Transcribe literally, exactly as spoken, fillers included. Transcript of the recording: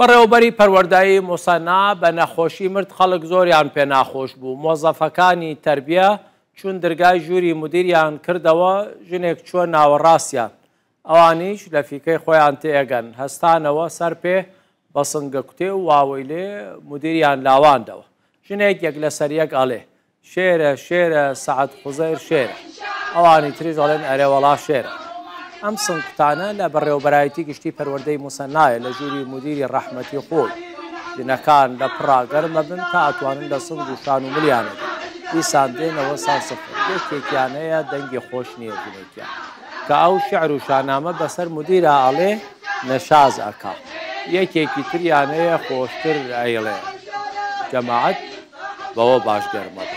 بەڕێوەبەری پەروەردەی موسەننا بە نەخۆشی مرد، خەڵک زۆریان پێ ناخۆش بوو. مۆزەفەکانی تەربیە چوون درگای ژووری مدیریان کردەوە، ژنێک چووە ناوەڕاستیان، ئەوانیش لە فیکەی خۆیان تێئەگەن، هەستانەوە سەر پێ بە سنگە کوتێ و واوەیلێ مدیریان لاواندەوە. ژنێک یەک لەسەر یەک ئەڵێ شێرە شێرە سەعد خوزەیر شێرە، ئەوانی تریش ئەڵێن ئەرێ وەڵا شێرە. ئەم سنگکوتانە لە بەڕێوەبەرایەتی گشتی پەروەردەی موسەننایە لە ژووری مدیری ڕەحمەتی خۆی. ژنەکان لە پڕا گەرمە بن تا ئەتوانن لە سنگ و شان و ملیانە بن، دیسان دێنەوە سەر سفر. یەکێکیان هەیە دەنگی خۆش نییە، ژنێکیان کە ئەو شعر و شانامە بەسەر مدیرا ئەڵێ نەشاز ئەکا. یەکێکی تریان هەیە خۆشتر ئەیڵێ. جەماعەت بەوە باش گەرمە بن.